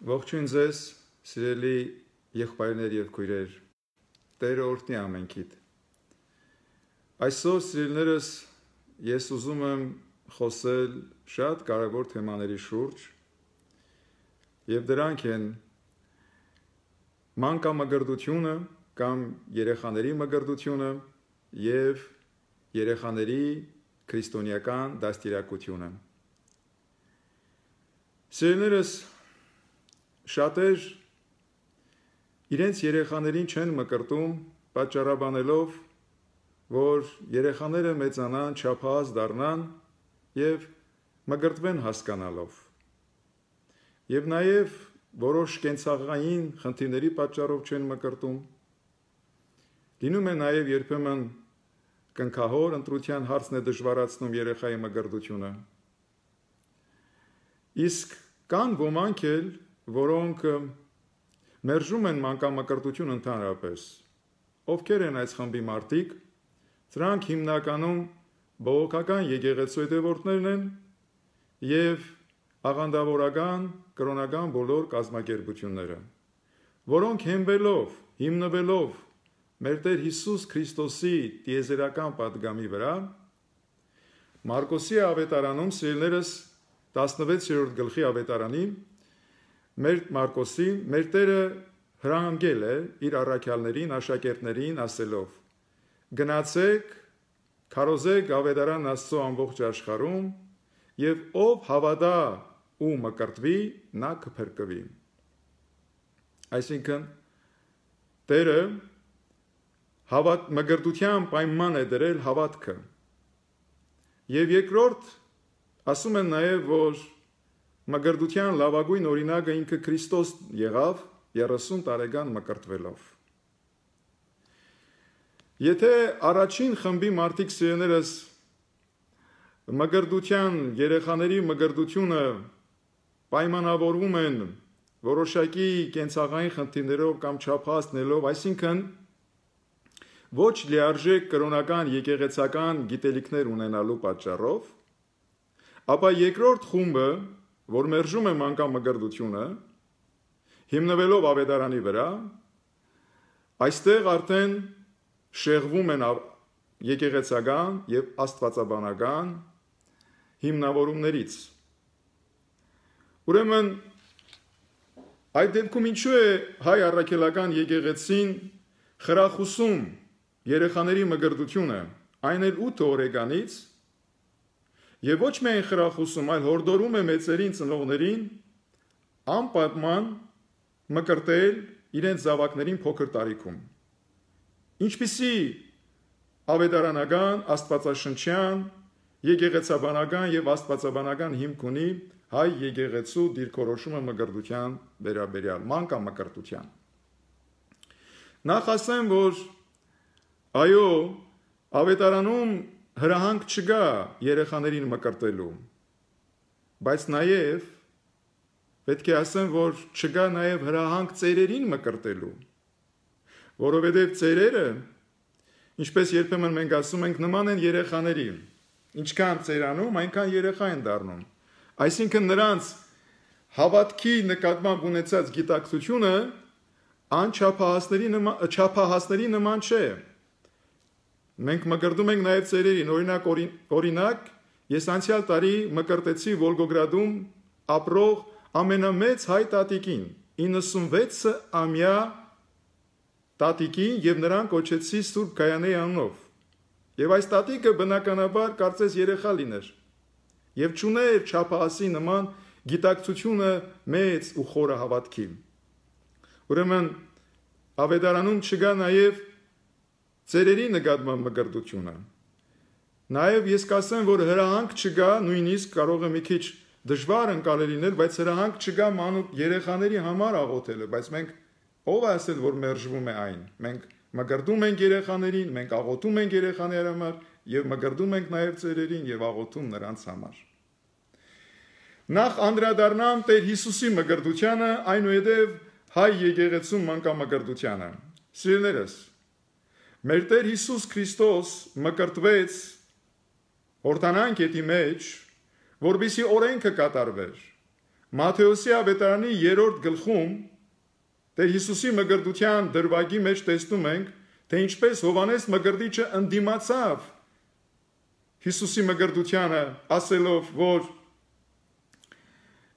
Ողջույն ձեզ, սիրելի եղբայրներ եւ քույրեր, Տերը օրհնի ամենքիդ։ Այսօր, սիրելիներս, ես ուզում եմ խոսել շատ կարևոր թեմաների շուրջ, եւ դրանք են մանկամկրտությունը կամ երեխաների մկրտությունը եւ երեխաների քրիստոնեական դաստիարակությունը։ Սիրելիներս, շատեր իրենց երեխաներին չեն մկրտում պատճառաբանելով, որ երեխաները մեծանան, չափահաս դառնան եւ մկրտվեն հասկանալով։ Եվ նաեւ որոշ կենցաղային խնդիրների պատճառով չեն մկրտում։ Լինում է նաեւ երբեմն կնքահոր ընտրության հարցն է դժվարացնում երեխայի մկրտությունը։ Իսկ կան ոմանք էլ, որոնք մերժում են մանկամկրտություն ընդհանրապես։ Ովքեր են այս խմբի մարդիկ, սրանք հիմնականում բողոքական եկեղեցու հետևորդներն են եւ աղանդավորական, կրոնական բոլոր կազմակերպությունները, որոնք հիմնվելով մեր Տեր Հիսուս Քրիստոսի տիեզերական պատգամի վրա, Մարկոսի ավետարանում, սիրելիներս, 16-րդ գլխի ավետարանի, Մարկոսի, մեր Տերը հրահանգել է իր առաքյալներին, աշակերտներին ասելով. գնացեք, քարոզեք ավետարան Աստծո ամբողջ աշխարհում, եւ ով հավատա ու մկրտվի, նա կփրկվի։ Այսինքն, Տերը մկրտության պայման է դրել հավատքը։ Եվ երկրորդ, ասում են նաև, որ մկրտության լավագույն օրինակը ինքը Քրիստոս եղավ 30 տարեկան մկրտվելով։ Եթե առաջին խմբի մարդիկ սիրելիներս մկրտության, երեխաների մկրտությունը պայմանավորվում են որոշակի կենցաղային խնդիրներով կամ չափահասներով, այսինքն ոչ լիարժեք կրոնական եկեղեցական գիտելիքներ ունենալու պատճառով, ապա երկրորդ խումբը, որ մերժում է մանկամկրտությունը, հիմնվելով ավետարանի վրա, այստեղ արդեն շեղվում են եկեղեցական եւ աստվածաբանական հիմնավորումներից։ Ուրեմն այդ դեպքում ինչու է հայ առաքելական եկեղեցին խրախուսում երեխաների մկրտությունը, այն էլ 8 օրեկանից, եւ ոչ միայն խրախուսում, այլ հորդորում է մեծերին, ծնողներին անպատման մկրտել իրենց զավակներին փոքր տարիքում։ Ինչպիսի ավետարանական, աստվածաշնչյան, եկեղեցաբանական եւ աստվածաբանական հիմք ունի հայ եկեղեցու դիրքորոշումը մկրտության վերաբերյալ, մանկամկրտության։ Նախ ասեմ, որ այո, ավետարանում հրահանգ չկա երեխաներին մկրտելու, բայց նաև պետք է ասեմ, որ չկա նաև հրահանգ ծերերին մկրտելու, որովհետև ծերերը, ինչպես երբեմն մենք ասում ենք, նման են երեխաների, ինչքան ծերանում, այնքան երեխա են դառնում, այսինքն նրանց հավատքի նկատմամբ ունեցած գիտակցությունը չափահասների նման չէ։ Մենք մկրտում ենք նաև ծերերին, օրինակ, ես անցյալ տարի մկրտեցի Վոլգոգրադում ապրող ամենամեծ հայ տատիկին, 96-ամյա տատիկին եւ նրան կոչեցի Սուրբ Գայանեի անունով։ Եվ այս տատիկը բնականաբար կարծես երեխա լիներ եւ չուներ չափահասի նման գիտակցությունը մեծ ու խորը հավատքի։ Ուրեմն ավետարանում չկա նաև ծերերի նկատմամբ մկրտությունը։ Նաև ես կասեմ, որ հրահանգ չկա, նույնիսկ կարող է մի քիչ դժվար ընկալել լինել, բայց հրահանգ չկա մանուկ երեխաների համար աղոթելը, բայց մենք ով է ասել, որ մերժվում է այն։ Մենք մկրտում ենք երեխաներին, մենք աղոթում ենք երեխաների համար եւ մկրտում ենք նաև ծերերին եւ աղոթում նրանց համար։ Նախ անդրադառնամ Տեր Հիսուսի մկրտությանը, այնուհետև հայ եկեղեցու մանկամկրտությանը։ Սիրելիներս, մեր Տեր Հիսուս Քրիստոս մկրտվեց Հորդանան գետի մեջ, որպեսզի օրենքը կատարվեր, Մատթեոսի ավետարանի 3-րդ գլխում Տեր Հիսուսի մկրտության դրվագի մեջ տեսնում ենք, թե ինչպես Հովանես մկրտիչը ընդդիմացավ Հիսուսի մկրտությանը, ասելով, որ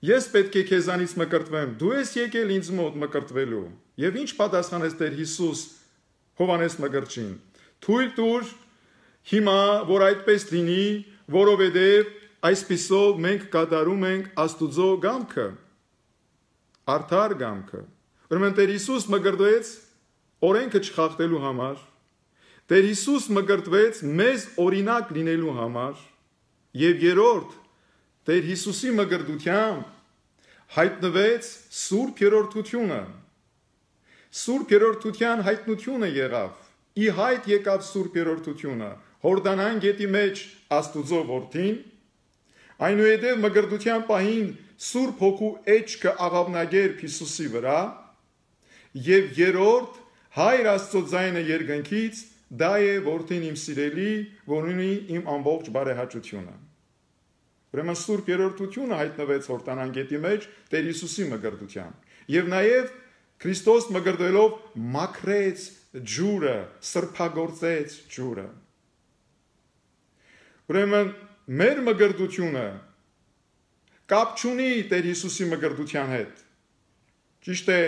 ես պետք է քեզանից մկրտվեմ, դու ես եկել ինձ մոտ մկրտվելու։ Եվ ինչ պատասխանեց Տեր Հիսուս Հովանես մկրտչին. թույլ տուր հիմա, որ այդպես լինի, որովհետև այսպիսով մենք կատարում ենք Աստուծո կամքը, արդար կամքը։ Ուրեմն Տեր Հիսուս մկրտվեց օրենքը չխախտելու համար, Տեր Հիսուս մկրտվեց մեզ օրինակ լինելու համար, եւ երրորդ Տեր Հիսուսի մկրտությամբ հայտնվեց Սուրբ Երրորդությունը։ Սուրբ Երրորդության հայտնությունը եղավ, ի հայտ եկավ Սուրբ Երրորդությունը, Հորդանան գետի մեջ Աստուծո որդին, այնուհետև մկրտության պահին Սուրբ Հոգու էջքը աղավնագերբ Հիսուսի վրա, եւ երրորդ Հայր Աստծո ձայնը երկնքից, դա է որդին իմ սիրելի, որ ունի իմ ամբողջ բարեհաճությունը։ Ուրեմն Սուրբ Երրորդությունը հայտնվեց Հորդանան գետի մեջ Տեր Հիսուսի մկրտությամբ, եւ նաեւ Քրիստոս մկրտվելով մաքրեց ջուրը, սրբագործեց ջուրը։ Ուրեմն մեր մկրտությունը կապ չունի Տեր Հիսուսի մկրտության հետ։ Ճիշտ է,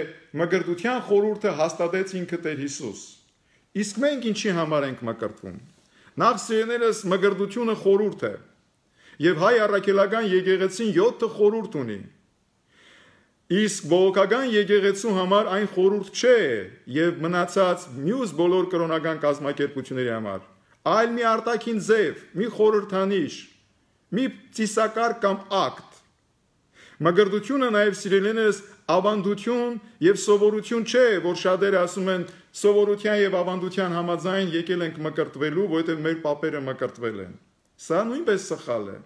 մկրտության խորհուրդը հաստատեց ինքը Տեր Հիսուս։ Իսկ մենք ինչի համար ենք մկրտվում։ Նախ սիրելիներս, մկրտությունը խորհուրդ է։ Եվ հայ առաքելական եկեղեցին 7 խորհուրդ ունի։ Իսկ բողոքական եկեղեցու համար այն խորհուրդ չէ եւ մնացած մյուս բոլոր կրոնական կազմակերպությունների համար, այլ մի արտաքին ձև, մի խորհրդանիշ, մի ծիսակարգ կամ ակտ։ Մկրտությունը նաեւ սիրելիներս ավանդություն եւ սովորություն չէ, որ շատերը ասում են սովորության եւ ավանդության համաձայն եկել ենք մկրտվելու, որովհետեւ մեր պապերը մկրտվել են։ Սա նույնպես սխալ է։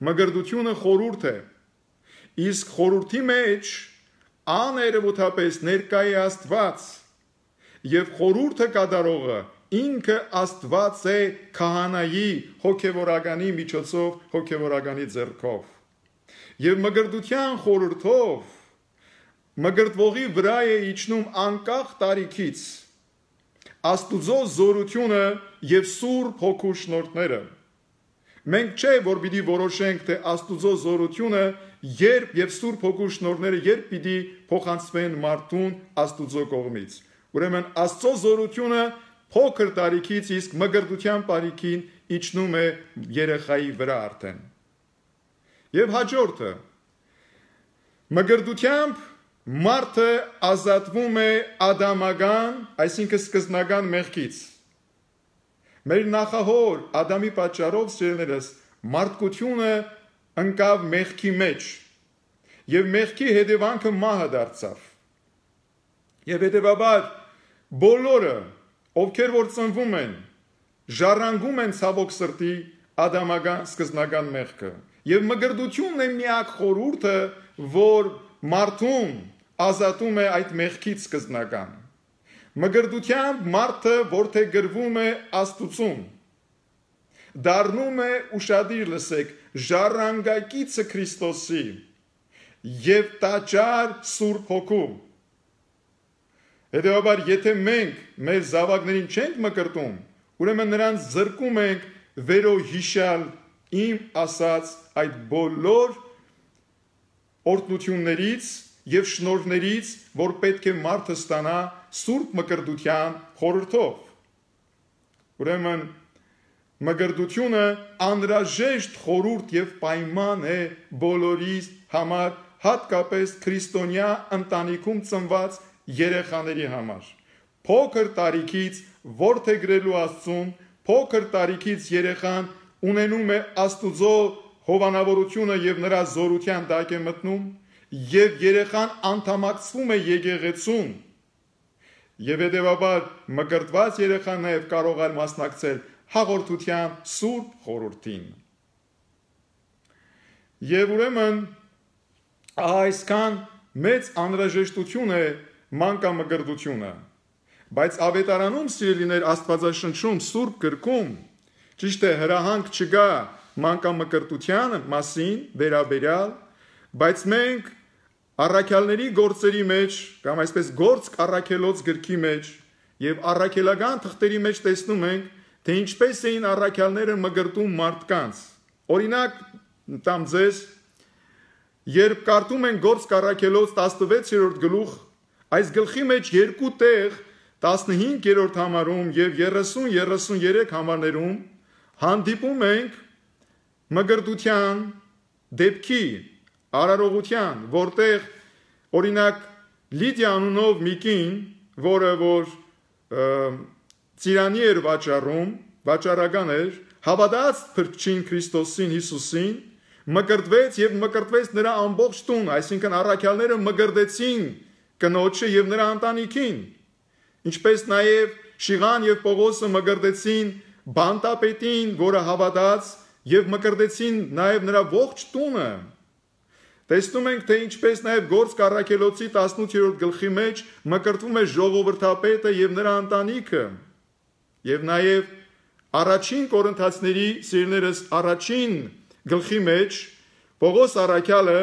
Մկրտությունը խորհուրդ է։ Իսկ խորհրդի մեջ աներևութապես ներկա է Աստված եւ խորհուրդը կատարողը ինքը Աստված է քահանայի հոգեվորականի միջոցով, հոգեվորականի ձեռքով։ Եվ մկրտության խորհրդով մկրտվողի վրա է իջնում անկախ տարիքից Աստուծո զորությունը եւ Սուրբ Հոգու շնորհները։ Մենք չէ, որ պիտի որոշենք, թե Աստուծո զորությունը երբ եւ Սուրբ Հոգու շնորհները երբ պիտի փոխանցվեն մարդուն Աստուծո կողմից։ Ուրեմն Աստծո զորությունը փոքր տարիքից իսկ մկրտության տարիքին իջնում է երեխայի վրա արդեն։ Եվ հաջորդը մկրտությամբ մարդը ազատվում է ադամական, այսինքն սկզբնական մեղքից։ Մեր նախահոր Ադամի պատճառով սիրելիներս մարդկությունը ընկավ մեղքի մեջ եւ մեղքի հետևանքը մահը դարձավ։ Եվ հետևաբար բոլորը, ովքեր որ ծնվում են, ժառանգում են ցավոք սրտի ադամական սկզբնական մեղքը։ Եվ մկրտությունն է միակ խորհուրդը, որ մարդուն ազատում է այդ մեղքից սկզբնական։ Մկրտությամբ մարդը որդեգրվում է Աստծուն, դառնում է ուշադիր լսեք, ժառանգակիցը Քրիստոսի եւ տաճար Սուրբ Հոգու։ Հետևաբար, եթե մենք մեր զավակներին չենք մկրտում, ուրեմն նրանց զրկում ենք վերոհիշալ իմ ասած այդ բոլոր օրհնություններից եւ շնորհներից, որ պետք է մարդը ստանա Սուրբ մկրտության խորհրդով։ Ուրեմն մկրտությունը անհրաժեշտ խորհուրդ եւ պայման է բոլորիս համար, հատկապես քրիստոնյա ընտանիքում ծնված երեխաների համար։ Փոքր տարիքից որդեգրելու Աստծուն, փոքր տարիքից երեխան ունենում է Աստուծո հովանավորությունը եւ նրա զորության տակ է մտնում, եւ երեխան անդամակցվում է եկեղեցուն, եւ հետեւաբար մկրտված երեխան նաեւ կարող է մասնակցել հաղորդության Սուրբ խորհրդին։ Եվ ուրեմն այսքան մեծ անհրաժեշտություն է մանկամկրտությունը, բայց ավետարանում սիրելիներ Աստվածաշնչում Սուրբ գրքում ճիշտ է հրահանգ չկա մանկամկրտության մասին վերաբերյալ, Բայց մենք առաքյալների գործերի մեջ կամ այսպես գործ առաքելոց գրքի մեջ եւ առաքելական թղթերի մեջ տեսնում ենք, թե ինչպես էին առաքյալները մկրտում մարդկանց։ Օրինակ տամ ձեզ, երբ կարդում են գործ առաքելոց 16-րդ գլուխ, այս գլխի մեջ երկու տեղ 15-րդ համարում եւ 30-33 համարներում հանդիպում ենք մկրտության դեպքի արարողության, որտեղ օրինակ Լիդիա անունով մի կին, որը որ ծիրանի էր վաճառական էր, հավատաց Փրկչին Քրիստոսին Հիսուսին, մկրտվեց եւ մկրտվեց նրա ամբողջ տուն, այսինքն առաքյալները մկրտեցին կնոջը եւ նրա ընտանիքին, ինչպես նաեւ Շիղան եւ Պողոսը մկրտեցին բանտապետին, որը հավատաց եւ մկրտեցին նաեւ նրա ողջ տունը։ Տեսնում ենք, թե ինչպես նաև գործ առաքելոցի 18-րդ գլխի մեջ մկրտվում է ժողովրդապետը եւ նրա ընտանիքը։ Եվ նաև առաջին Կորինթացիների սիրելիներս առաջին գլխի մեջ Պողոս առաքյալը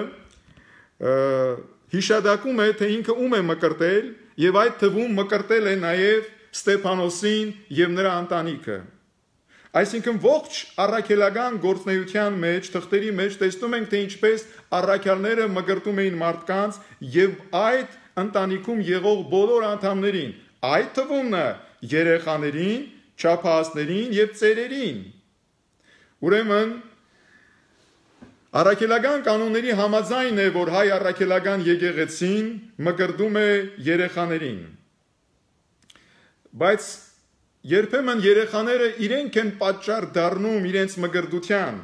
հիշադակում է, թե ինքը ում է մկրտել եւ այդ թվում մկրտել է նաև Ստեփանոսին եւ նրա ընտանիքը։ Այսինքն ողջ առաքելական գործնեության մեջ, թղթերի մեջ տեսնում ենք, թե ինչպես առաքյալները մկրտում էին մարդկանց եւ այդ ընտանիքում եղող բոլոր անդամներին, այդ թվում երեխաներին, չափահասներին եւ ծերերին։ Ուրեմն առաքելական կանոնների համաձայն է, որ հայ առաքելական եկեղեցին մկրտում է երեխաներին։ Բայց երբեմն երեխաները իրենք են պատճառ դառնում իրենց մկրտության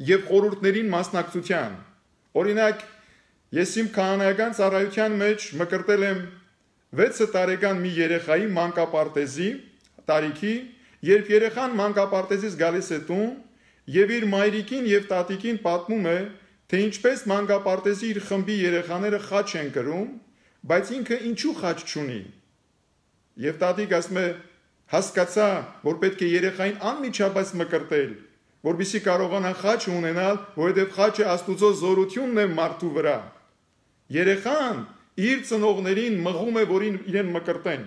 եւ խորհուրդներին մասնակցության։ Օրինակ, ես իմ քահանայական ծառայության մեջ մկրտել եմ 6 տարեկան մի երեխայի մանկապարտեզի տարիքի, երբ երեխան մանկապարտեզից գալիս է տուն եւ իր մայրիկին եւ տատիկին պատմում է, թե ինչպես մանկապարտեզի իր խմբի երեխաները խաչ են կրում, բայց ինքը ինչու խաչ չունի։ Եվ տատիկ ասում է, հասկացա, որ պետք է երեխային անմիջապես մկրտել, որպեսզի կարողանա խաչ ունենալ, որովհետև խաչը Աստուծո զորությունն է մարդու վրա։ Երեխան իր ծնողներին մղում է, որ իրեն մկրտեն,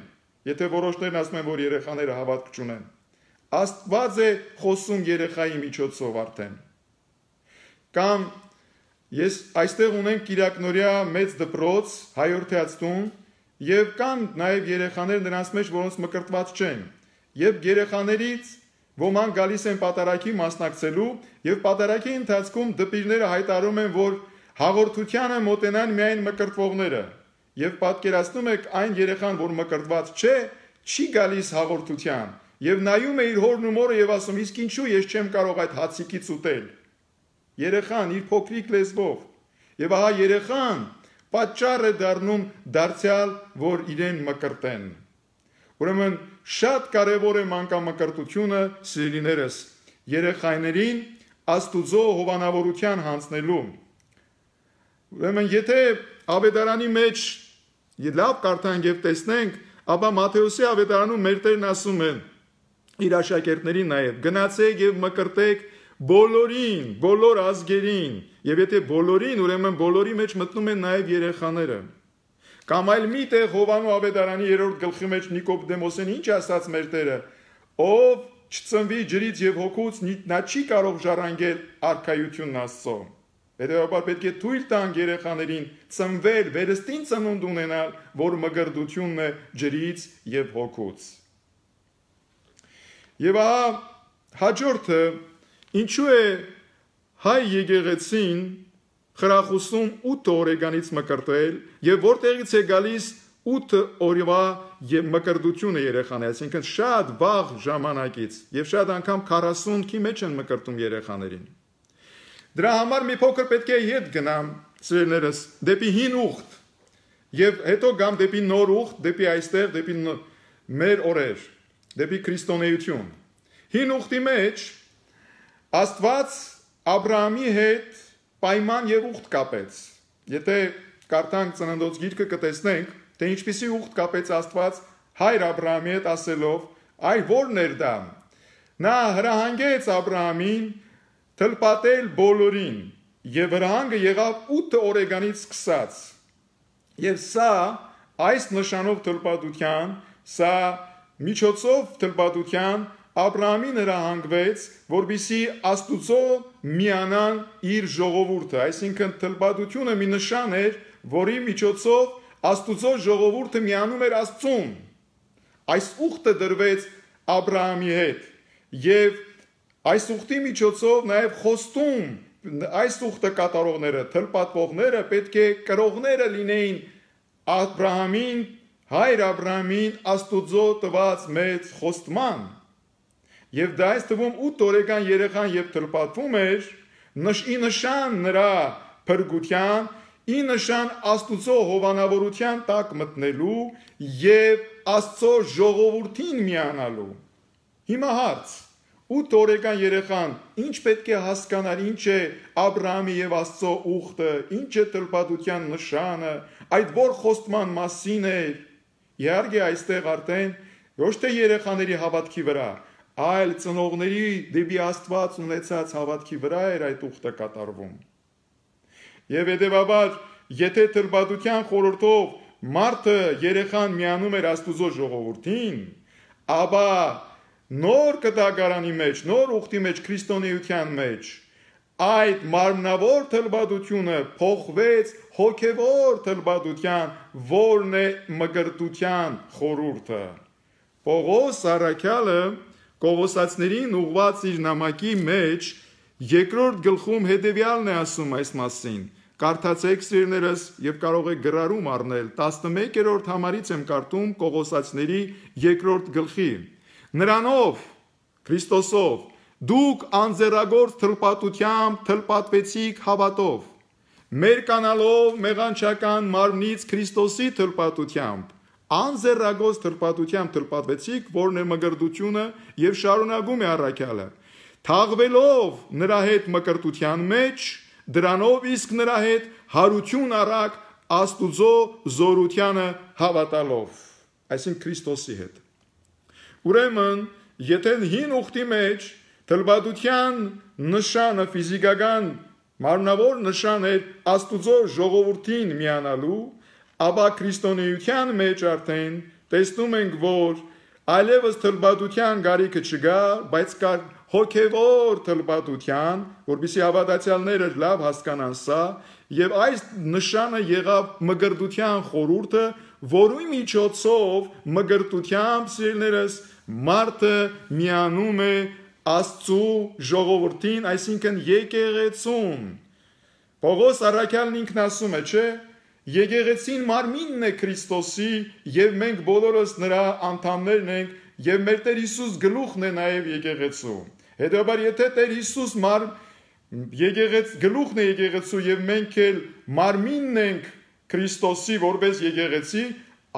եթե որոշներն ասում են, որ երեխաները հավատք չունեն։ Աստված է խոսում երեխայի միջոցով արդեն։ Կամ ես այստեղ ունենք Կիրակնորյա մեծ դպրոց, հայորդյաց տուն, եւ կան նաեւ երեխաներ նրանց մեջ, որոնց մկրտված չեն։ Եվ երեխաներից ոմանք գալիս են պատարագի մասնակցելու եւ պատարագի ընթացքում դպիրները հայտարարում են, որ հաղորդությանը մոտենան միայն մկրտվողները։ Եվ պատկերացնում եք այն երեխան, որ մկրտված չէ, չի գալիս հաղորդության եւ նայում է իր հորն ու մորը եւ ասում, իսկ ինչու ես չեմ կարող այդ հացիկից ուտել։ Երեխան իր փոքրիկ լեզվով։ Եվ ահա երեխան պատճառ է դառնում դարձյալ, որ իրեն մկրտեն։ Ուրեմն շատ կարևոր է մանկամկրտությունը, սիրելիներս, երեխաներին Աստուծո հովանավորության հանձնելու։ Ուրեմն եթե ավետարանի մեջ լավ կարդանք եւ տեսնենք, ապա Մատթեոսի ավետարանում մեր Տերն ասում է իր աշակերտներին նաեւ, գնացեք եւ մկրտեք բոլորին, բոլոր ազգերին, եւ եթե բոլորին, ուրեմն բոլորի մեջ մտնում են նաեւ երեխաները։ Կամ այլ մի տեղ Հովանու ավետարանի 3-րդ գլխի մեջ Նիկոդեմոսին ինչ ասաց մեր Տերը, ով չծնվի ջրից եւ հոգուց, նա չի կարող ժառանգել արքայությունն Աստծո։ Հետևաբար պետք է թույլ տանք երեխաներին ծնվել, վերստին ծնունդ ունենալ, որ մկրտությունն է ջրից եւ հոգուց։ Եվ ահա հաջորդը ինչու է հայ եկեղեցին խրախուսում 8 օրեգանից մկրտել եւ որտեղից է գալիս 8 օրվա եւ մկրտությունը երեխաների, այսինքն շատ վաղ ժամանակից եւ շատ անգամ 40-ի մեջ են մկրտում երեխաներին։ Դրա համար մի փոքր պետք է հետ գնամ, սիրելիներս, դեպի հին ուխտ եւ հետո գամ դեպի նոր ուխտ, դեպի այստեղ, դեպի մեր օրեր, դեպի քրիստոնեություն։ Հին ուխտի մեջ Աստված Աբրահամի հետ պայման եւ ուխտ կապեց։ Եթե կարդանք Ծննդոց գիրքը կտեսնենք, թե ինչպիսի ուխտ կապեց Աստված հայր Աբրահամի հետ ասելով, այ ո՞րն էր դա։ Նա հրահանգեց Աբրահամին թլպատել բոլորին եւ վրահանգը եղավ 8 օրեգանից սկսած։ Եվ սա այս նշանով թլպատության, սա միջոցով թլպատության Աբրահամին հրահանգվեց, որպեսզի Աստուծո միանան իր ժողովուրդը, այսինքն թլպատությունը մի նշան էր, որի միջոցով Աստուծո ժողովուրդը միանում էր Աստծուն։ Այս ուխտը դրվեց Աբրահամի հետ, եւ այս ուխտի միջոցով նաև խոստում այս ուխտը կատարողները, թլպատվողները պետք է կրողները լինեին Աբրահամին, հայր Աբրահամին Աստուծո տված մեծ խոստման։ Եվ դա այս թվում 8 օրեկան երեխան եւ թլպատվում էր, ի նշան նրա փրկության, ի նշան Աստուծո հովանավորության տակ մտնելու եւ Աստծո ժողովրդին միանալու։ Հիմա հարց. 8 օրեկան երեխան ինչ պետք է հասկանալ, ինչ է Աբրահամի եւ Աստծո ուխտը, ինչ է թլպատության նշանը, այդ որ խոստման մասին է։ Իհարկե այստեղ արդեն ոչ թե երեխաների հավատքի վրա, այլ ծնողների դեպի Աստված ունեցած հավատքի վրա էր այդ ուխտը կատարվում։ Եվ հետևաբար, եթե թլպատության խորհրդով մարդը երեխան միանում էր Աստուծո ժողովրդին, ապա նոր կտակարանի մեջ, նոր ուխտի մեջ, քրիստոնեության մեջ, այդ մարմնավոր թլպատությունը փոխվեց հոգևոր թլպատության, որն է մկրտության խորհուրդը։ Պողոս առաքյալը Կողոսացիներին ուղված իր նամակի մեջ երկրորդ գլխում հետևյալն է ասում այս մասին։ Կարդացեք սիրելիներս եւ կարող եք գրառում առնել 11-րդ համարից եմ կարդում Կողոսացիների երկրորդ գլխի։ Նրանով Քրիստոսով դուք անձեռագործ թլպատությամբ թլպատվեցիք հավատով, մերկանալով մեղանչական մարմնից Քրիստոսի թլպատությամբ անձեռագործ թլպատությամբ թլպատվեցիք, որն է մկրտությունը եւ շարունակում է առաքյալը, թաղվելով նրա հետ մկրտության մեջ, դրանով իսկ նրա հետ հարություն առաք Աստուծո զորությանը հավատալով, այսինքն Քրիստոսի հետ։ Ուրեմն, եթե հին ուխտի մեջ թլպատության նշանը ֆիզիկական մարմնավոր նշան էր Աստուծո ժողովրդին միանալու, ապա քրիստոնեության մեջ արդեն տեսնում ենք, որ այլևս թլպատության գարիքը չկա, բայց կա հոգևոր թլպատության, որպեսզի հավատացյալները լավ հասկանան սա, եւ այս նշանը եղավ մկրտության խորհուրդը, որի միջոցով մկրտությամբ սիրելիներս մարդը միանում է Աստծո ժողովրդին, այսինքն եկեղեցուն։ Պողոս առաքյալն ինքն ասում է, չէ՞, եկեղեցին մարմինն է Քրիստոսի եւ մենք բոլորս նրա անդամներն ենք եւ մեր Տեր Հիսուս գլուխն է նաեւ եկեղեցու։ Հետեւաբար եթե Տեր Հիսուս գլուխն է եկեղեցու եւ մենք էլ մարմինն ենք Քրիստոսի որպես եկեղեցի,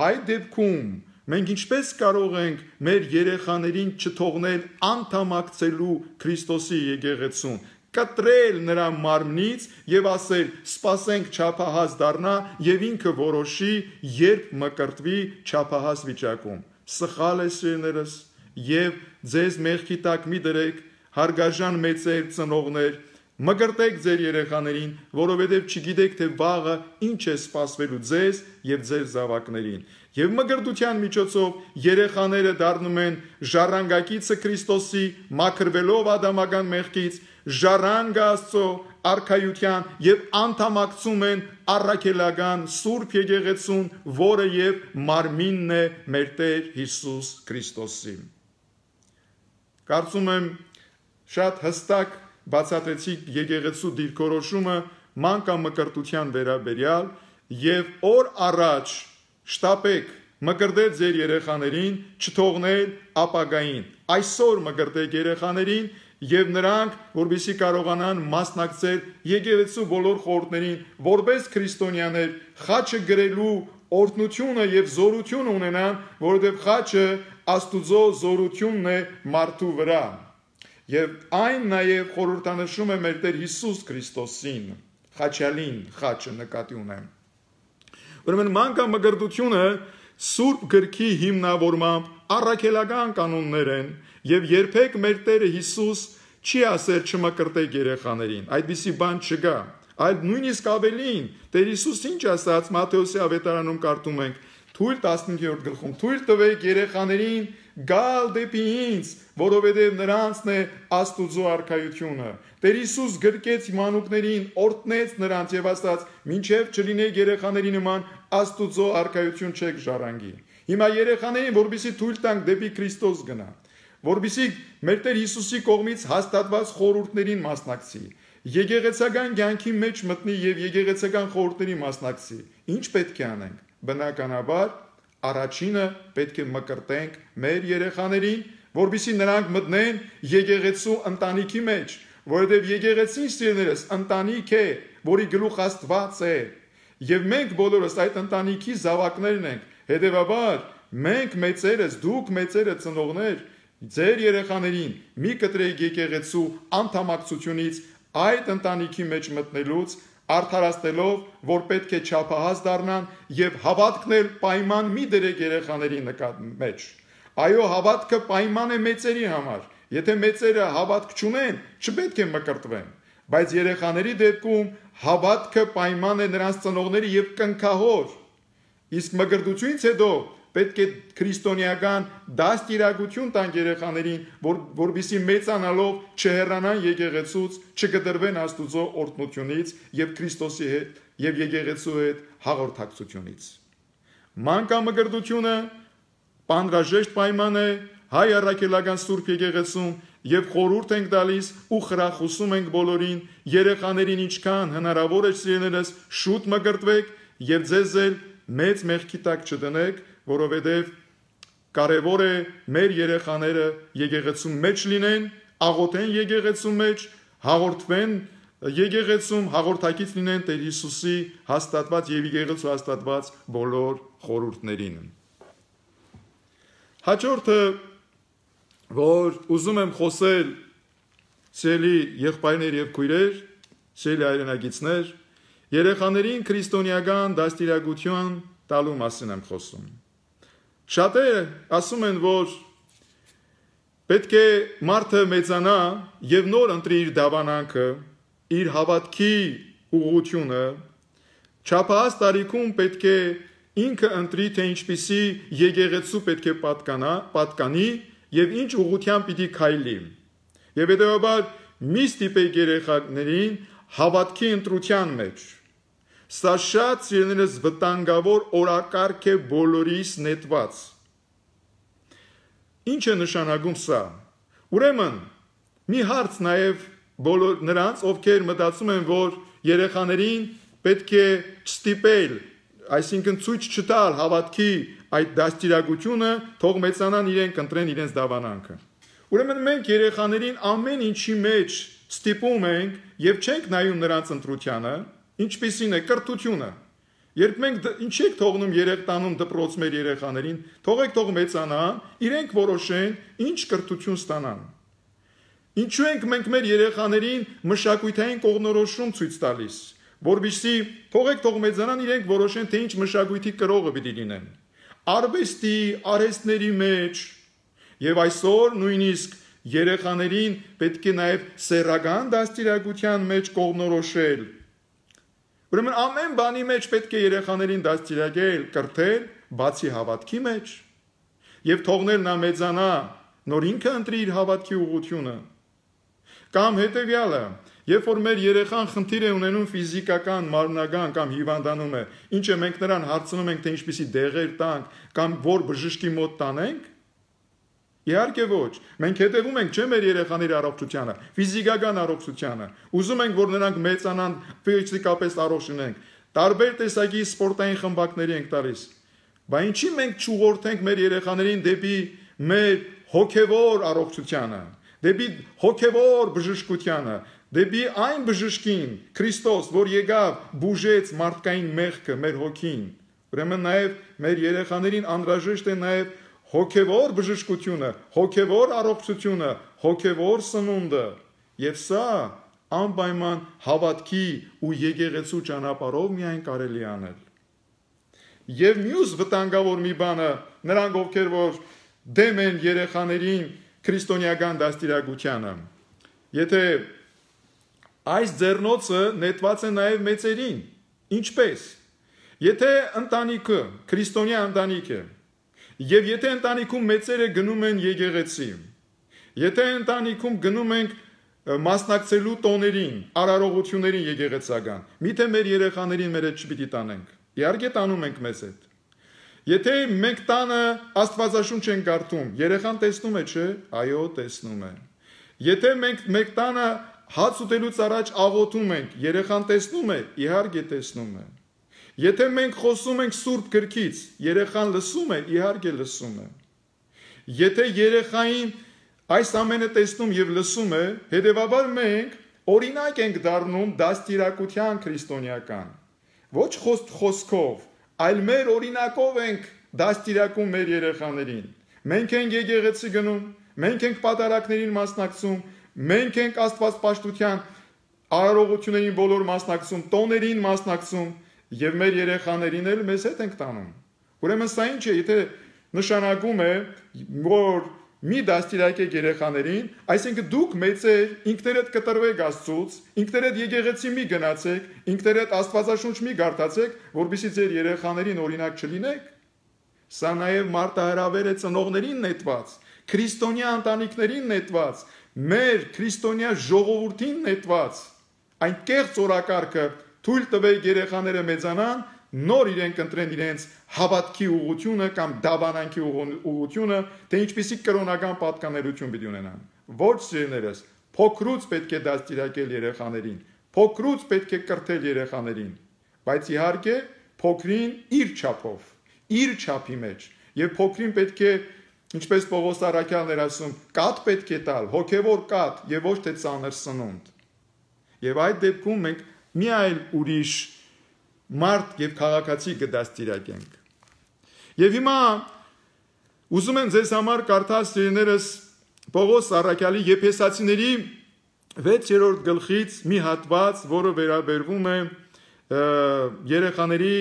այդ դեպքում մենք ինչպես կարող ենք մեր երեխաներին չթողնել անդամակցելու Քրիստոսի եկեղեցուն, կտրել նրա մարմնից եւ ասել սպասենք չափահաս դառնա եւ ինքը որոշի երբ մկրտվի չափահաս վիճակում։ Սխալ է սիրելիներս եւ ձեզ մեղքի տակ մի դրեք, հարգարժան մեծեր ծնողներ, մկրտեք ձեր երեխաներին, որովհետեւ չգիտեք թե վաղը ինչ է սպասվելու ձեզ եւ ձեր զավակներին։ Եվ մկրտության միջոցով երեխաները դառնում են ժառանգակիցը Քրիստոսի, մաքրվելով ադամական մեղքից, ժառանգ Աստծո արքայության եւ անդամակցում են առաքելական Սուրբ եկեղեցուն, որը եւ մարմինն է մեր Տեր Հիսուս Քրիստոսի։ Կարծում եմ շատ հստակ բացատրեցի եկեղեցու դիրքորոշումը մանկամկրտության վերաբերյալ եւ օր առաջ շտապեք մկրտել ձեր երեխաներին, չթողնել ապագային։ Այսօր մկրտեք երեխաներին եւ նրանք, որպեսզի կարողանան մասնակցել եկեղեցու բոլոր խորհուրդներին, որպես քրիստոնյաներ, խաչը գրելու օրհնությունը եւ զորություն ունենան, որովհետեւ խաչը Աստուծո զորությունն է մարդու վրա։ Եվ այն նաեւ խորհրդանշում է մեր Տեր Հիսուս Քրիստոսին, խաչալին, խաչը նկատի ունեմ։ Ուրեմն մանկամկրտությունը Սուրբ գրքի հիմնավորմամբ առաքելական կանոններ են եւ երբեք մեր Տերը Հիսուս չի ասել չմկրտեք երեխաներին, այդպիսի բան չկա։ այլ նույնիսկ ավելին, Տեր Հիսուս ինչ ասաց Մատթեոսի ավետարանում կարդում ենք, թույլ 15-րդ գլխում, թույլ տվեք երեխաներին գալ դեպի ինձ, որովհետև նրանցն է Աստուծո արքայությունը։ Տեր Հիսուս գրկեց մանուկներին, օրհնեց նրանց եւ ասաց. «Մինչև չլինեք երեխաների նման, Աստուծո արքայություն չեք ժառանգի»։ Հիմա երեխաներին, որպեսզի թույլ տանք դեպի Քրիստոս գնա, որպեսզի մեր Տեր Հիսուսի կողմից հաստատված խորհուրդներին մասնակցի, եկեղեցական կյանքի մեջ մտնի եւ եկեղեցական խորհուրդների մասնակցի, ինչ պետք է անենք։ Բնականաբար առաջինը պետք է մկրտենք մեր երեխաներին, որպեսզի նրանք մտնեն եկեղեցու ընտանիքի մեջ, որովհետև եկեղեցին սիրելիներս ընտանիք է, որի գլուխ Աստված է, եւ մենք բոլորս այդ ընտանիքի զավակներն ենք։ Հետևաբար մենք մեծերս, դուք մեծերը ծնողներ, ձեր երեխաներին մի կտրեք եկեղեցու անդամակցությունից այդ ընտանիքի մեջ մտնելուց, արդարացնելով, որ պետք է չափահաս դառնան եւ հավատքն էլ պայման մի դրեք երեխաների մեջ։ Այո, հավատքը պայման է մեծերի համար։ Եթե մեծերը հավատք չունեն, չպետք է մկրտվեն, բայց երեխաների դեպքում հավատքը պայման է նրանց ծնողների եւ կնքահոր։ Իսկ մկրտությունից հետո պետք է քրիստոնեական դաստիարակություն տան երեխաներին, որպեսզի մեծանալով չհեռանան եկեղեցուց, չկտրվեն Աստուծո օրհնությունից եւ Քրիստոսի հետ եւ եկեղեցու հետ հաղորդակցությունից։ Մանկամկրտությունը պանրաժեշտ պայման է հայ առաքելական Սուրբ եկեղեցում եւ խորհուրդ ենք տալիս ու խրախուսում ենք բոլորին երեխաներին ինչքան հնարավոր է սիրելիներս շուտ մկրտվեք եւ ձեզ էլ մեծ մեղքի տակ չդնեք, որովհետև կարևոր է մեր երեխաները եկեղեցու մեջ լինեն, աղոթեն եկեղեցու մեջ, հաղորդվեն եկեղեցում, հաղորդակից լինեն Տեր Հիսուսի հաստատված եւ եկեղեցու հաստատված բոլոր խորհուրդներին։ Հաջորդը, որ ուզում եմ խոսել, սիրելի եղբայրներ եւ քույրեր, սիրելի հայրենակիցներ, երեխաներին քրիստոնեական դաստիարակություն տալու մասին եմ խոսում։ Շատերը ասում են, որ պետք է մարդը մեծանա եւ նոր ընտրի իր դավանանքը, իր հավատքի ուղղությունը, չափահաս տարիքում պետք է ինքը ընտրի, թե ինչպիսի եկեղեցու պետք է պատկանի եւ ինչ ուղղությամբ պիտի քայլի։ Եվ հետեւաբար մի ստիպեք երեխաներին հավատքի ընտրության մեջ։ Սա շատ սիրելիներս վտանգավոր օրակարգ է բոլորիս նետված։ Ինչ է նշանակում սա։ Ուրեմն մի հարց նաև բոլոր նրանց, ովքեր մտածում են, որ երեխաներին պետք է ստիպել, այսինքն ցույց չտալ հավատքի այդ դաստիարակությունը, թող մեծանան իրենք ընտրեն իրենց դավանանքը։ Ուրեմն մենք երեխաներին ամեն ինչի մեջ ստիպում ենք եւ չենք նայում նրանց ընտրությանը, ինչպիսին է կրթությունը։ Երբ մենք ինչ եք թողնում երեխտանում դպրոց մեր երեխաներին, թողեք թող մեծանան, իրենք որոշեն ինչ կրթություն ստանան։ Ինչու ենք մենք մեր երեխաներին մշակութային կողմնորոշում ցույց տալիս, որովհետեւ թողեք թող մեծանան, իրենք որոշեն, թե ինչ մշակույթի կրողը պիտի լինեն։ Արվեստի, արհեստների մեջ եւ այսօր նույնիսկ երեխաներին պետք է նաեւ սեռական դաստիարակության մեջ կողմնորոշել։ Ուրեմն ամեն բանի մեջ պետք է երեխաներին դաստիարակել, կրթել, բացի հավատքի մեջ եւ թողնել նա մեծանա, նոր ինքը ընտրի իր հավատքի ուղղությունը։ Կամ հետեւյալը, երբ որ մեր երեխան խնդիր է ունենում ֆիզիկական, մարմնական կամ հիվանդանում է, ինչ է մենք նրան հարցնում ենք, թե ինչպիսի դեղեր տանք կամ որ բժշկի մոտ տանենք։ Իհարկե ոչ, մենք հետևում ենք չէ մեր երեխաների առողջությանը, ֆիզիկական առողջությանը, ուզում ենք, որ նրանք մեծանան, ֆիզիկապես առողջ լինեն, տարբեր տեսակի սպորտային խմբակների ենք տալիս։ Բայց ինչի մենք չուղղորդենք մեր երեխաներին դեպի մեր հոգևոր առողջությանը, դեպի հոգևոր բժշկությանը, դեպի այն բժշկին, Քրիստոս, որ եկավ, բուժեց մարդկային մեղքը, մեր հոգին։ Ուրեմն նաև մեր երեխաներին անհրաժեշտ է նաև հոգևոր բժշկությունը, հոգևոր առողջությունը, հոգևոր սնունդը, եւ սա անպայման հավատքի ու եկեղեցու ճանապարհով միայն կարելի անել։ Եվ մյուս վտանգավոր մի բանը, նրանք ովքեր որ դեմ են երեխաներին քրիստոնեական դաստիարակությանը, եթե այս ձեռնոցը նետված է նաև մեծերին։ Ինչպես։ Եթե ընտանիքը քրիստոնյա ընտանիք է, եւ եթե ընտանիքում մեծերը գնում են եկեղեցի, եթե ընտանիքում գնում ենք մասնակցելու տոներին, արարողություններին եկեղեցական, միթե մեր երեխաներին մեր հետ չպիտի տանենք։ Իհարկե տանում ենք մեզ հետ։ Եթե մենք տանը Աստվածաշունչ ենք կարդում, երեխան տեսնում է, չէ՞։ Այո, տեսնում է։ Եթե մենք մեր տանը հաց ուտելուց առաջ աղոթում ենք, երեխան տեսնում է, իհարկե տեսնում է։ Եթե մենք խոսում ենք Սուրբ գրքից, երեխան լսում է, իհարկե լսում է։ Եթե երեխային այս ամենը տեսնում եւ լսում է, հետեւաբար մենք օրինակ ենք դառնում դաստիարակության քրիստոնեական։ Ոչ խոսքով, այլ մեր օրինակով ենք դաստիարակում մեր երեխաներին։ Մենք ենք եկեղեցի գնում, մենք ենք պատարակներին մասնակցում, մենք ենք Աստվածպաշտության արարողություններին բոլոր մասնակցում, տոներին մասնակցում եւ մեր երեխաներին էլ մեզ հետ ենք տանում։ Ուրեմն սա ինչ է, եթե նշանակում է, որ մի դաստիարակեք երեխաներին, այսինքն դուք մեծեր ինքներդ կտրվեք Աստծուց, ինքներդ եկեղեցի մի գնացեք, ինքներդ Աստվածաշունչ մի գարտացեք, որպեսզի ձեր երեխաներին օրինակ չլինեք։ Սա նաև մարտահրավեր է ծնողներին նետված, քրիստոնյա ընտանիքներին նետված, մեր քրիստոնյա ժողովրդին նետված։ Այն կեղծ օրակարգը թույլ տվեք երեխաները մեծանան, նոր իրենք ընտրեն իրենց հավատքի ուղղությունը կամ դավանանքի ուղղությունը, թե ինչպիսի կրոնական պատկանելություն պիտի ունենան։ Ոչ սիրելիներս, փոքրուց պետք է դաստիարակել երեխաներին, փոքրուց պետք է կրթել երեխաներին, բայց իհարկե փոքրին իր չափով, իր չափի մեջ, եւ փոքրին պետք է, ինչպես Պողոս առաքյալն էր ասում, կաթ պետք է տալ, հոգևոր կաթ եւ ոչ թե ծանր սնունդ։ Եվ այդ դեպքում մենք մի այլ ուրիշ մարդ եւ քաղաքացի կդաստիարակենք։ Եվ հիմա ուզում եմ ձեզ համար կարդալ սիրելիներս Պողոս առաքյալի Եփեսացիների 6-րդ գլխից մի հատված, որը վերաբերվում է երեխաների,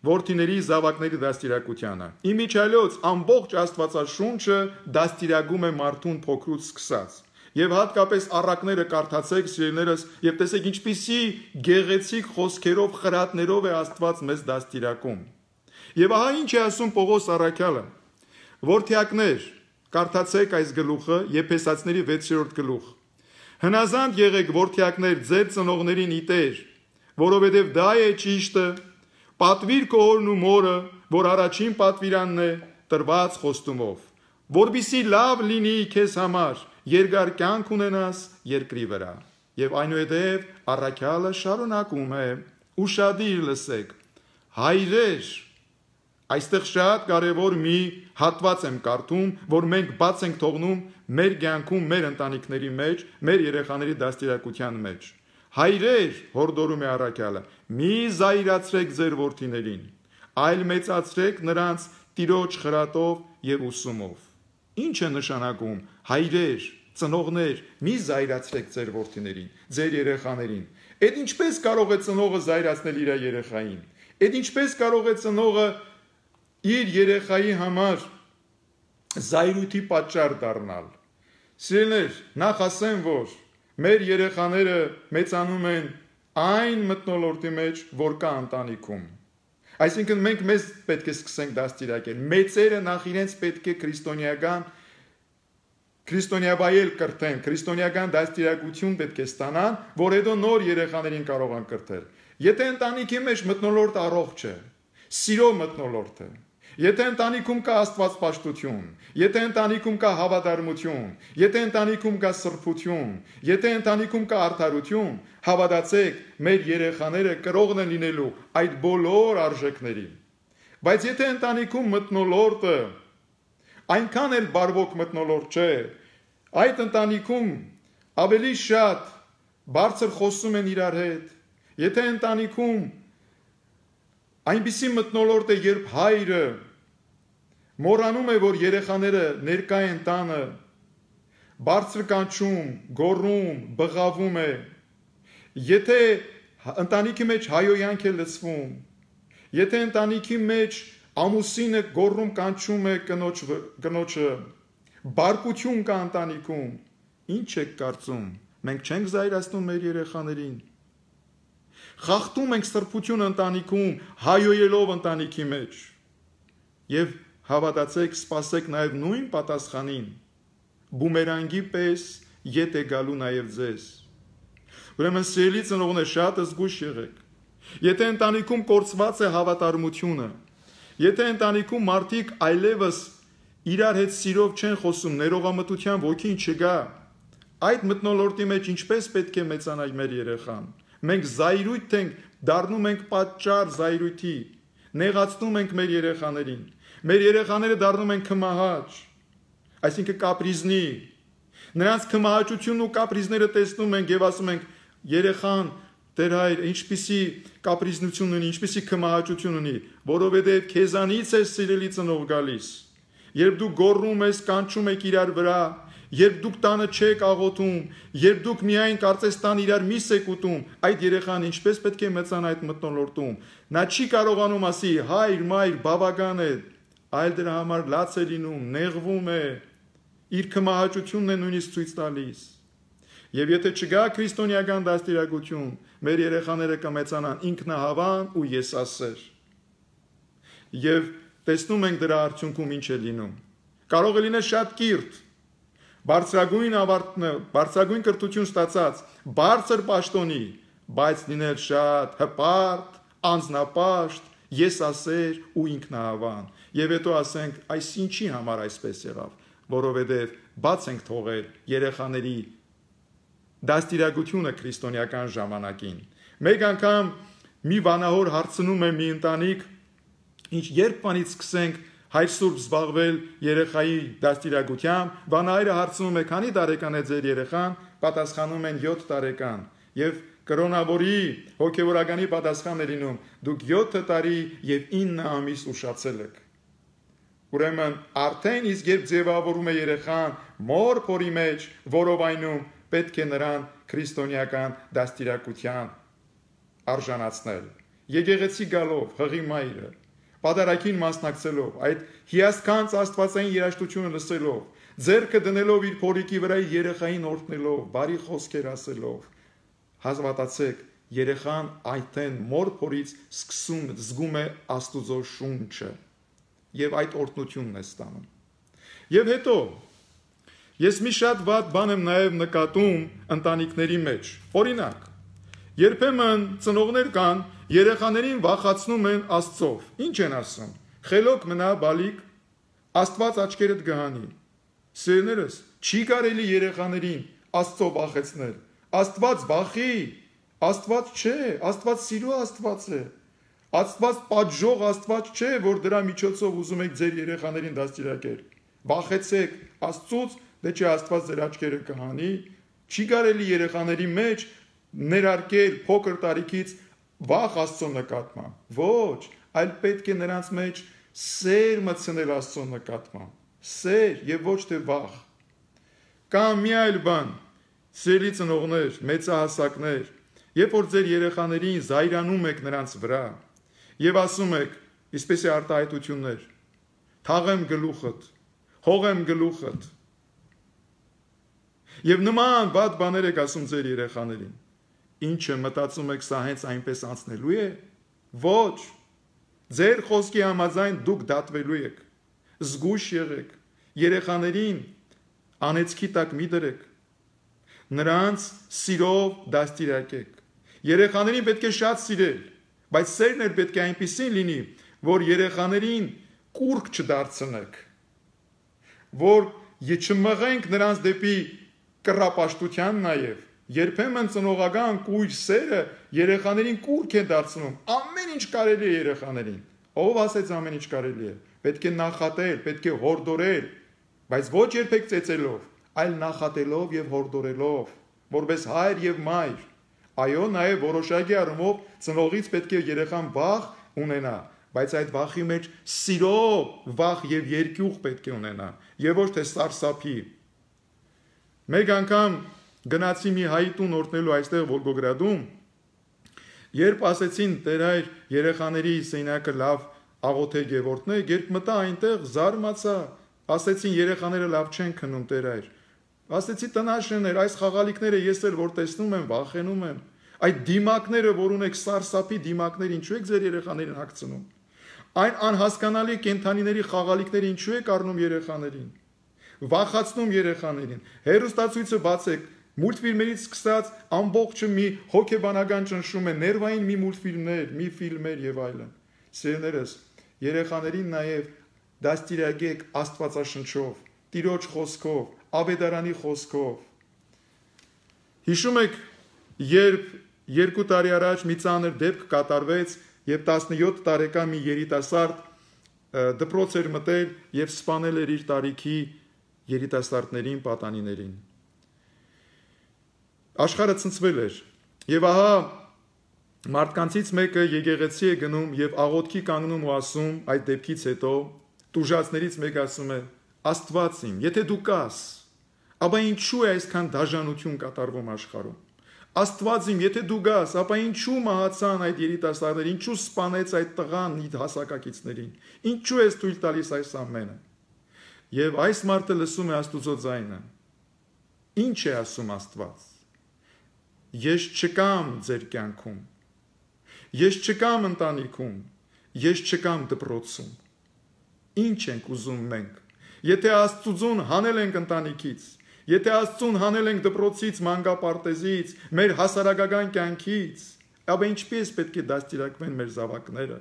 որդիների, զավակների դաստիարակությանը։ Իմիջիայլոց ամբողջ Աստվածաշունչը դաստիարակում է մարդուն փոքրուց սկսած։ Եվ հատկապես առակները կարդացեք սիրելիներս եւ տեսեք ինչպիսի գեղեցիկ խոսքերով, խրատներով է Աստված մեզ դաստիարակում։ Եվ ահա ինչ է ասում Պողոս առաքյալը. Որդյակներ, կարդացեք այս գլուխը, Եփեսացիների 6-րդ գլուխ։ Հնազանդ եղեք որդյակներ ձեր ծնողներին իտեր, որովհետև դա է ճիշտը, պատվիր քո հորն ու մորը, որ առաջին պատվիրանն է տրված խոստումով, որպեսզի լավ լինի քեզ համար, երկար կյանք ունենաս երկրի վրա։ Եվ այնուհետև առաքյալը շարունակում է. ուշադիր լսեք, հայրեր, այստեղ շատ կարևոր մի հատված եմ կարդում, որ մենք բաց ենք թողնում մեր կյանքում, մեր ընտանիքների մեջ, մեր երեխաների դաստիարակության մեջ։ Հայրեր, հորդորում է առաքյալը, մի զայրացրեք ձեր որդիներին, այլ մեծացրեք նրանց տիրոջ խրատով եւ ուսումով։ Ինչ է նշանակում հայրեր, ծնողներ, մի զայրացրեք ձեր որդիներին, ձեր երեխաներին։ Այդ ինչպես կարող է ծնողը զայրացնել իր երեխային։ Այդ ինչպես կարող է ծնողը իր երեխայի համար զայրույթի պատճառ դառնալ։ Սիրելիներ, նախ ասեմ, որ մեր երեխաները մեծանում են այն մթնոլորտի մեջ, որ կա ընտանիքում։ Այսինքն մենք մեզ պետք է սկսենք դաստիարակել։ Մեծերը նախ իրենց պետք է քրիստոնեաբայել կրթեն, քրիստոնեական դաստիարակություն պետք է ստանան, որ հետո նոր երեխաներին կարող են կրթել։ Եթե ընտանիքի մեջ մթնոլորտը առողջ է, սիրո մթնոլորտ է, եթե ընտանիքում կա աստվածպաշտություն, եթե ընտանիքում կա հավատարմություն, եթե ընտանիքում կա սրբություն, եթե ընտանիքում կա արդարություն, հավատացեք, մեր երեխաները կրողն են լինելու այդ բոլոր արժեքների։ Բայց եթե ընտանիքում մթնոլորտը այնքան էլ բարվոք մթնոլորտ չէ, այդ ընտանիքում ավելի շատ բարձր խոսում են իրար հետ, եթե ընտանիքում այնպիսի մթնոլորտ է, երբ հայրը մոռանում է, որ երեխաները ներկա են տանը, բարձր կանչում, գոռում, բղավում է, եթե ընտանիքի մեջ հայոյանք է լսվում, եթե ընտանիքի մեջ ամուսինը գոռում կանչում է կնոջը, բարկություն կա ընտանիքում, ինչ եք կարծում, Մենք չենք զայրացնում մեր երեխաներին։ Խախտում ենք սրբություն ընտանիքում, հայոյելով ընտանիքի մեջ։ Եվ հավատացեք, սպասեք նաև նույն պատասխանին։ Բումերանգի պես ետ է գալու նաև ձեզ։ Ուրեմն սիրելի ծնողներ, շատ զգույշ եղեք։ Եթե ընտանիքում կորցված է հավատարմությունը, եթե ընտանիքում մարդիկ այլևս իրար հետ սիրով չեն խոսում, ներողամտության ոգին չկա, այդ մթնոլորտի մեջ ինչպես պետք է մեծանա մեր երեխան։ Մենք զայրույթ ենք, դառնում ենք պատճառ զայրույթի, նեղացնում ենք մեր երեխաներին։ Մեր երեխաները դառնում են քմահաճ, այսինքն կապրիզնի։ Նրանց քմահաճությունն ու կապրիզները տեսնում ենք եւ ասում ենք, երեխան, Տեր հայր, ինչպիսի կապրիզնություն ունի, ինչպիսի քմահաճություն ունի, որովհետև քեզանից է սիրելի ծնող գալիս։ Երբ դու գոռում ես, կանչում եք իրար վրա, երբ դուք տանը չեք աղոթում, երբ դուք միայն կարծես տան իրար միս եք ուտում, այդ երեխան ինչպես պետք է մեծանա այդ մթնոլորտում։ Նա չի կարողանում ասի, հայր, մայր, բավական է, այլ դրա համար լաց է լինում, նեղվում է, իր քմահաճությունն է նույնիսկ ցույց տալիս։ Եվ եթե չգա քրիստոնեական դաստիարակություն, մեր երեխաները կմեծանան ինքնահավան ու եսասեր։ Եվ տեսնում ենք դրա արդյունքում ինչ է լինում։ Կարող է լինել շատ կիրթ, բարձրագույն կրթություն ստացած, բարձր պաշտոնի, բայց լինել շատ հպարտ, անձնապաշտ, եսասեր ու ինքնահավան։ Եվ հետո ասենք, այս ինչի համար այսպես եղավ, որովհետև բաց ենք թողել երեխաների դաստիարակությունը քրիստոնեական ժամանակին։ Մեկ անգամ մի վանահոր հարցնում է մի ընտանիք, ինչ երբ բանից սկսենք հայր սուրբ զբաղվել երեխայի դաստիարակությամբ, վանահայրը հարցնում է, քանի տարեկան է ձեր երեխան, պատասխանում են 7 տարեկան, եւ կրոնավորի հոգեվորականի պատասխանն է լինում, դուք 7 տարի եւ 9 ամիս ուշացել եք։ Ուրեմն արդեն իսկ երբ ձևավորում է երեխան մոր փորի մեջ, որովայնում պետք է նրան քրիստոնեական դաստիարակության արժանացնել։ Եկեղեցի գալով, հղի մայրը, պատարագին մասնակցելով, այդ հիասքանչ աստվածային երաժշտությունը լսելով, ձեռքը դնելով իր փորիկի վրա երեխային օրհնելով, բարի խոսքեր ասելով, հազվադացեք, երեխան այդտեն մոր փորից զգում է Աստուծո շունչը եւ այդ օրհնությունն է ստանում։ Եվ հետո ես մի շատ վատ բան եմ նաև նկատում ընտանիքների մեջ։ Օրինակ, երբեմն ծնողներ կան, երեխաներին վախացնում են Աստծով։ Ինչ են ասում։ Խելոք մնա բալիկ, Աստված աչքերդ կհանի։ Սիրելիներս, չի կարելի երեխաներին Աստծով վախեցնել։ Աստված վախի, Աստված չէ, Աստված սիրո Աստված է։ Աստված պատժող Աստված չէ, որ դրա միջոցով ուզում եք ձեր երեխաներին դաստիարակել։ Վախեցեք Աստծուց, դե չէ Աստված ձեր աչքերը կհանի։ Չի կարելի երեխաների մեջ ներարկել փոքր տարիքից վախ Աստծո նկատմամբ։ Ոչ, այլ պետք է նրանց մեջ սեր մտցնել Աստծո նկատմամբ։ Սեր եւ ոչ թե վախ։ Կամ մի այլ բան, սիրելի ծնողներ, մեծահասակներ, երբ որ ձեր երեխաներին զայրանում եք նրանց վրա եւ ասում եք, ինչպես է արտահայտություններ, թաղեմ գլուխդ, հողեմ գլուխդ։ Եվ նման վատ բաներ եք ասում ձեր երեխաներին։ Ինչը մտածում եք, սա հենց այնպես անցնելու է։ Ոչ։ Ձեր խոսքի համաձայն դուք դատվելու եք։ Զգույշ եղեք։ Երեխաներին անեծքի տակ մի դրեք։ Նրանց սիրով դաստիարակեք։ Երեխաներին պետք է շատ սիրել, բայց սերն էլ պետք է այնպիսին լինի, որ երեխաներին կուրք չդարձնեք, որ չմղենք նրանց դեպի կռապաշտության նաև։ Երբեմն ծնողական կույր սերը երեխաներին կուրք է դարձնում, ամեն ինչ կարելի է երեխաներին։ Ով ասեց ամեն ինչ կարելի է։ Պետք է նախատել, պետք է հորդորել, բայց ոչ երբեք ծեծելով, այլ նախատելով եւ հորդորելով, որպես հայր եւ մայր։ Այո, նաև որոշակի առումով ծնողից պետք է երեխան վախ ունենա, բայց այդ վախի մեջ սիրով վախ եւ երկյուղ պետք է ունենա, եւ ոչ թե սարսափի։ Մեկ անգամ գնացի մի հայի տուն օրհնելու այստեղ Վոլգոգրադում, երբ ասեցին Տեր հայր երեխաների սենակը լավ աղոթեք եւ օրհնեք, երբ մտա այնտեղ զարմացա, ասեցին երեխաները լավ չեն քնում Տեր հայր։ Ասեցի տնաշեններ, այս խաղալիքները ես էլ որ տեսնում եմ, վախենում եմ։ Այդ դիմակները, որ ունեք սարսափի դիմակներ, ինչու եք ձեր երեխաներին հագցնում։ Այն անհասկանալի կենթանիների խաղալիքները ինչու եք առնում երեխաներին։ Վախացնում երեխաներին։ Հեռուստացույցը բացեք, մուլտֆիլմերից սկսած ամբողջը մի հոգեբանական ճնշում է, ներվային մի մուլտֆիլմներ, մի ֆիլմեր եւ այլն։ Սիրելիներս, երեխաներին նաեւ դաստիարակեք Աստվածաշնչով, Տիրոջ խոսքով, Աբեդարանի խոսքով։ Հիշում եք, երբ 2 տարի առաջ մի ծանր դեպք կատարվեց եւ 17 տարեկան մի երիտասարդ դպրոց էր մտել եւ սպանել էր իր տարիքի երիտասարդներին, պատանիներին։ Աշխարհը ցնցվել էր եւ ահա մարդկանցից մեկը եկեղեցի է գնում եւ աղոթքի կանգնում ու ասում այդ դեպքից հետո տուժածներից մեկը ասում է. Աստված իմ, եթե դու կաս, ապա ինչու է այսքան դաժանություն կատարվում աշխարհում։ Աստված իմ, եթե դու գաս, ապա ինչու մահացան այդ երիտասարդները, ինչու սպանեց այդ տղան իր հասակակիցներին, ինչու ես թույլ տալիս այս ամենը։ Եվ այս մարդը լսում է Աստուծո ձայնը։ Ինչ է ասում Աստված։ Ես չկամ ձեր կյանքում, ես չկամ ընտանիքում, ես չկամ դպրոցում։ Ինչ ենք ուզում մենք։ Եթե Աստծուն հանել ենք ընտանիքից, եթե Աստծուն հանել ենք դպրոցից, մանկապարտեզից, մեր հասարակական կյանքից, ապա ինչպես պետք է դաստիարակվեն մեր զավակները։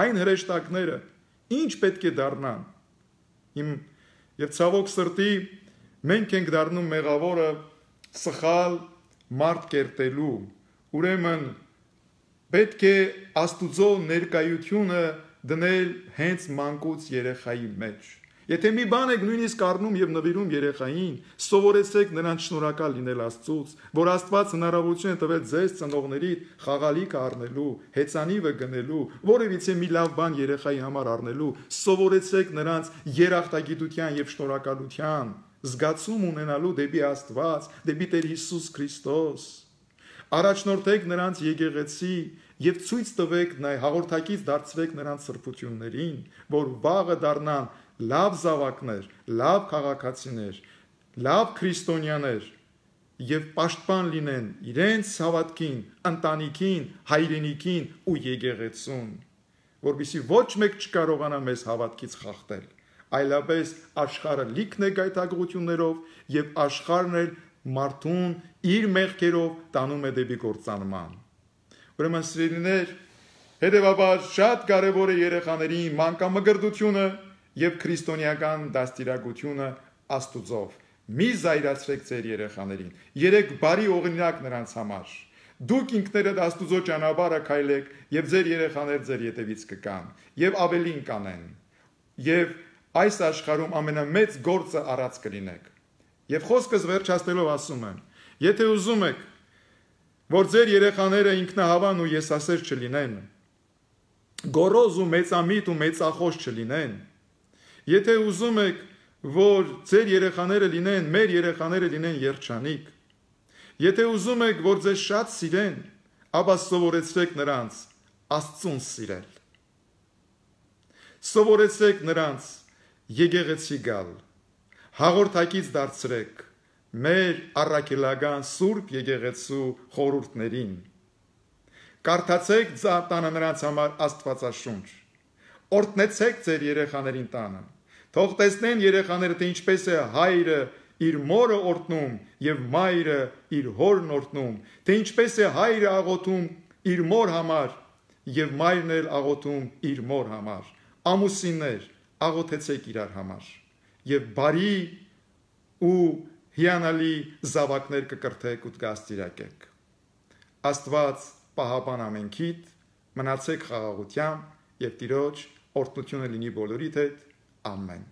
Այն հրեշտակները ինչ պետք է դառնան։ Եվ ցավոք սրտի մենք ենք դառնում մեղավորը սխալ մարդ կերտելու։ Ուրեմն պետք է Աստուծո ներկայությունը դնել հենց մանկուց երեխայի մեջ։ Եթե մի բան եք նույնիսկ առնում եւ նվիրում երեխային, սովորեցեք նրան շնորհակալ լինել Աստծուց, որ Աստված հնարավորություն է տվել ձեզ ծնողների խաղալիք առնելու, հեծանիվը գնելու, որևիցե մի լավ բան երեխայի համար առնելու, սովորեցեք նրանց երախտագիտության եւ շնորհակալության զգացում ունենալու դեպի Աստված, դեպի Տեր Հիսուս Քրիստոս։ Առաջնորդեք նրանց եկեղեցի եւ ցույց տվեք հաղորդակից դարձրեք նրանց սրբություններին, որ վաղը դառնան լավ զավակներ, լավ քաղաքացիներ, լավ քրիստոնյաներ եւ պաշտպան լինեն իրենց հավատքին, ընտանիքին, հայրենիքին ու եկեղեցուն, որովհետեւ ոչ մեկ չկարողանա մեզ հավատքից խախտել, այլապես աշխարհը լիքն է գայթակղություններով եւ աշխարհն էլ մարդուն իր մեղքերով տանում է դեպի կործանման։ Ուրեմն սիրելիներ, հետեւաբար շատ կարեւոր է երեխաների մանկամգրդությունը եւ քրիստոնեական դաստիարակությունը Աստուծով։ Մի զայրացրեք ձեր երեխաներին։ Երեք բարի օրինակ նրանց համար։ Դուք ինքներդ Աստուծո ճանապարհը քայլեք եւ ձեր երեխաները ձեր ետևից կգան եւ ավելին կանեն։ Եվ այս աշխարհում ամենամեծ գործը առած կլինեք։ Եվ խոսքս վերջացնելով ասում եմ. եթե ուզում եք, որ ձեր երեխաները ինքնահավան ու եսասեր չլինեն, գոռոզ ու մեծամիտ ու մեծախոս չլինեն, եթե ուզում եք, որ ձեր երեխաները լինեն, մեր երեխաները լինեն երջանիկ, եթե ուզում եք, որ ձեզ շատ սիրեն, ապա սովորեցրեք նրանց Աստծուն սիրել։ Սովորեցրեք նրանց եկեղեցի գալ, հաղորդակից դարձրեք մեր առաքելական Սուրբ եկեղեցու խորհուրդներին։ Կարդացեք տանը նրանց համար Աստվածաշունչ։ Օրհնեցեք ձեր երեխաներին տանը։ Թող տեսնեն երեխաները, թե ինչպես է հայրը իր մորը օրհնում եւ մայրը իր հորն օրհնում, թե ինչպես է հայրը աղոթում իր մոր համար եւ մայրն էլ աղոթում իր մոր համար։ Ամուսիններ, աղոթեցեք իրար համար եւ բարի ու հիանալի զավակներ կկրթեք ու կդաստիարակեք։ Աստված պահապան ամենքիդ, մնացեք խաղաղությամբ եւ Տիրոջ օրհնությունը լինի բոլորիդ հետ։ Ամեն։